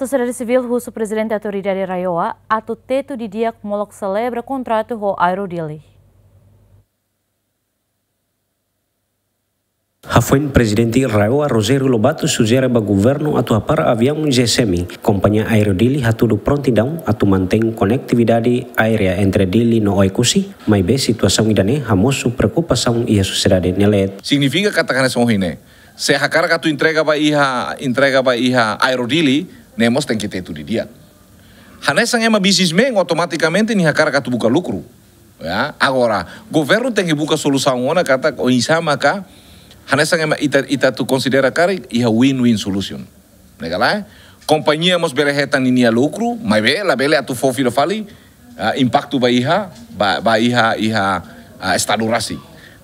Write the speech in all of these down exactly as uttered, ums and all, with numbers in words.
Sosiedade Sivíl husu Prezidente Autoridade RAEOA atu tetu didi'ak molok selebra kontratu ho Aero Dili. Hafoin Prezidente RAEOA Rogério Lobato sujere ba governu atu hapara aviaun G S M, kompañia Aero Dili hatudu prontidaun atu mantein konetividade aérea entre Dili no Oekusi, maibé situasaun ida-ne'e hamosu preokupasaun iha sosiedade nia leet. Signifika katak hanesan ohin ne'e, se hakarak atu entrega ba iha, entrega ba iha Aero Dili, ne'e mós tenke tetu didi'ak. Hanesan ema businessman, automatikamente nia hakarak atu buka lukru. Ya, agora, governu tenke buka solusaun ona katak oinsá maka hanesan ema ita, ita atu konsidera karik iha win-win solution. Ne'e ka lae? Kompañia mós bele hetan ninia lukru, maibé labele atu fó fila fali, ah, impaktu ba iha, ba, ba iha, iha, ah, estadu rasik.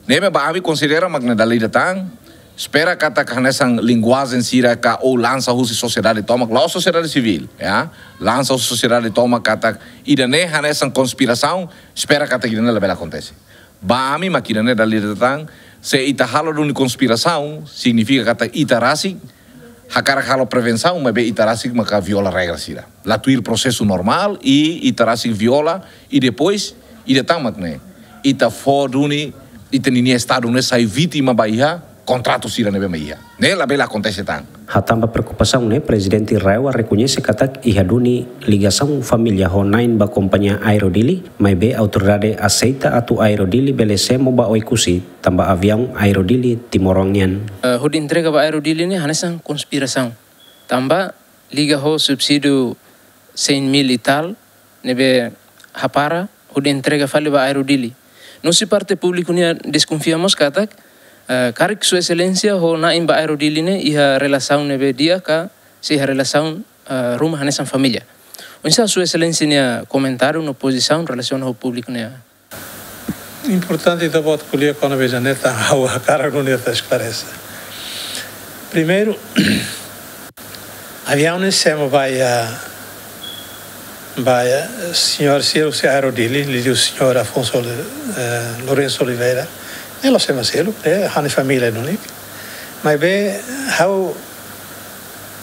Ne'ebé ba ami konsidera mak ne'e dala ida tan, espera katak hanesan linguajen sira ka ou lansa husi sosiedade tomak, la'ós sosiedade sivíl, ya. Lansa husi sosiedade tomak katak ida-ne'e hanesan konspirasaun, espera katak ida-ne'e labele akontese. Ba ami mak ida-ne'e dala ida tan, se ita halo duni konspirasaun, signifika katak ita rasik hakarak halo prevensaun, maibé ita rasik maka viola regra sira. La tuir prosesu normál, i ita rasik viola, i depois, ida tan mak ne'e, ita fó duni, ita ninia estadu ne'e sai vítima ba iha kontratu sira ne'ebé mak iha. Ne'e labele akontese tan. Hatán ba preokupasaun ne'e, Prezidente RAEOA rekoñese katak iha duni ligasaun família ho na'in ba kompañia Aero Dili, maibé autoridade aseita atu Aero Dili bele semo ba Oekusi, tanba aviaun Aero Dili timoroan nian. Eh, hodi entrega ba Aero Dili ne'e hanesan konspirasaun. Tanba liga ho subsídiu cem mil e tal, ne'ebé hapara hodi entrega fali ba Aero Dili. No husi parte públiku nian deskonfia mós katak, eh, karik Sua Exelénsia ho na'in ba Aero Dili ne'e iha relasaun ne'ebé di'ak ka se iha relasaun, eh, ruma hanesan família. Oinsá Sua Exelénsia nia komentáriu no pozisaun relasiona ho públiku nian? Importante ita-boot ko'alia kona-ba ida-ne'e tan, ha'u hakarak nune'e ita esklarese. Primeiru, aviaun ne'e semo ba iha, ba iha señór sira husi Aero Dili, liuliu señór Afonso Oli-, eh, Lourenço Oliveira. Ne'e la'ós ema seluk, ne'e ha'u-nia família duni. Maibé, ha'u,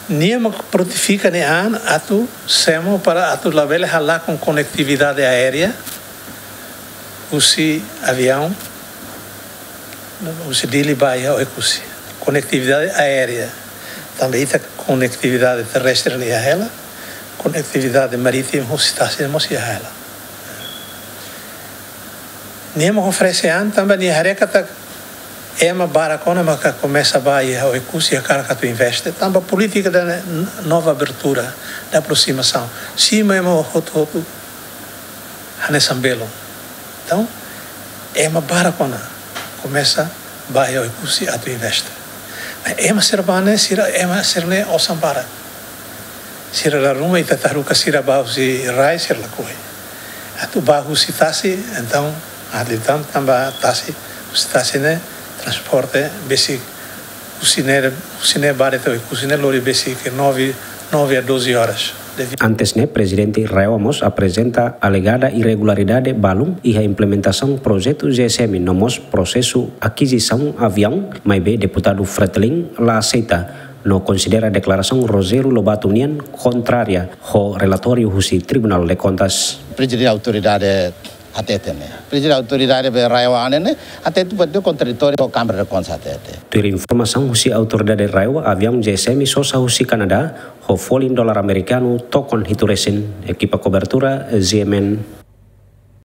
nia mak prontifika nia an atu semo para atu labele halakon konetividade aérea husi aviaun, husi Dili ba iha Oekusi. Konetividade aérea. Tanba ita konetividade terrestre ne'e iha hela, konetividade marítima husi tasi mós iha hela. Nia mak oferese an tanba nia haree katak ema barak ona maka komesa ba iha Oekusi hakarak atu investe. Tanba polítika da nova abertura, da aproximação. Simu ema hotu-hotu hanesan belun. Entaun, ema barak ona komesa ba iha Oekusi atu investe. Ema sira ba ne'e, sira, ema sira ne'e osan barak. Sira la ruma ita taruka sira ba husi rai, sira lakohi. Atu ba husi tasi, entaun, atu tan tanba tasi, husi tasi ne'e transporte besik husi ne'e, husi ne'e ba de'it Oekusi ne'e lori besik nove, nove a doze horas. Devi- Antes ne'e, Prezidente RAEOA mós aprezenta alegada irregularidade balun iha implementasaun projetu G S M no mós prosesu akizisaun aviaun, maibé Deputadu Fretilin la aseita no konsidera deklarasaun Rogério Lobato nian kontrária ho relatóriu husi Tribunál de Kontas. Prezidente Autoridade hatete ne'e. Prezidente Autoridade be RAEOA ne'e, hatete buat ne'e kontraditóriu ho Kámara de Kontas hatete. Tuir informasaun husi Autoridade RAEOA, aviaun G S M sosa husi Kanadá, ho folin dolar amerikanu tokon hitu resin, ekipa kobertura, G M N.